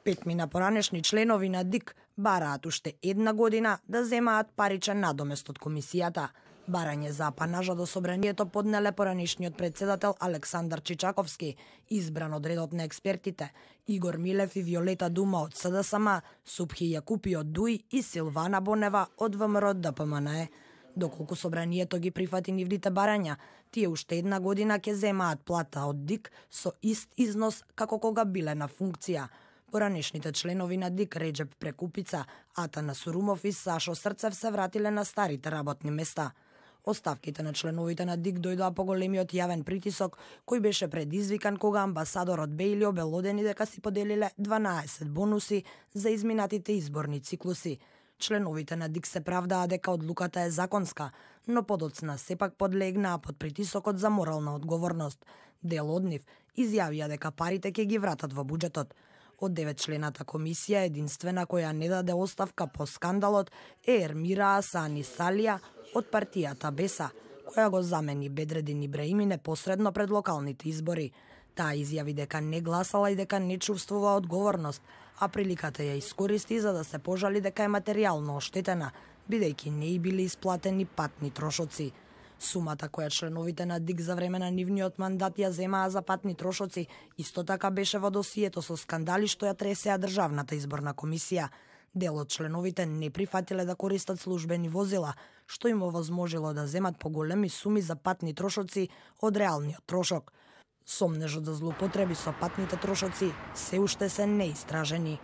Петмина поранешни членови на ДИК бараат уште една година да земаат паричен надомест од комисијата. Барање за апанажа до собранието поднеле поранешниот председател Александар Чичаковски, избран од редот на експертите, Игор Милев и Виолета Дума од СДСМ, Супхи Јакупи од ДУИ и Силвана Бонева од ВМРО ДПМНЕ. Доколку собранието ги прифати нивните барања, тие уште една година ќе земаат плата од ДИК со ист износ како кога биле на функција. Поранешните членови на ДИК Реджеп Прекупица, Атана Сурумов и Сашо Срцев се вратиле на старите работни места. Оставките на членовите на ДИК дојдоа по големиот јавен притисок кој беше предизвикан кога амбасадорот Бејли обелодени дека си поделиле 12 бонуси за изминатите изборни циклуси. Членовите на ДИК се правдаа дека одлуката е законска, но подоцна сепак подлегнаа под притисокот за морална одговорност. Дел од нив изјавија дека парите ќе ги вратат во буџетот. Од 9-члената комисија, единствена која не даде оставка по скандалот е Ермира Асани Салија од партијата Беса, која го замени Бедредин Ибраими непосредно пред локалните избори. Таа изјави дека не гласала и дека не чувствува одговорност, а приликата ја искористи за да се пожали дека е материјално оштетена, бидејќи не и били исплатени патни трошоци. Сумата која членовите на ДИК за време на нивниот мандат ја земаа за патни трошоци исто така беше во досието со скандали што ја тресеа Државната изборна комисија. Дел од членовите не прифатиле да користат службени возила, што им овозможило да земат поголеми суми за патни трошоци од реалниот трошок. Сомнежот за злоупотреби со патните трошоци се уште се неистражени.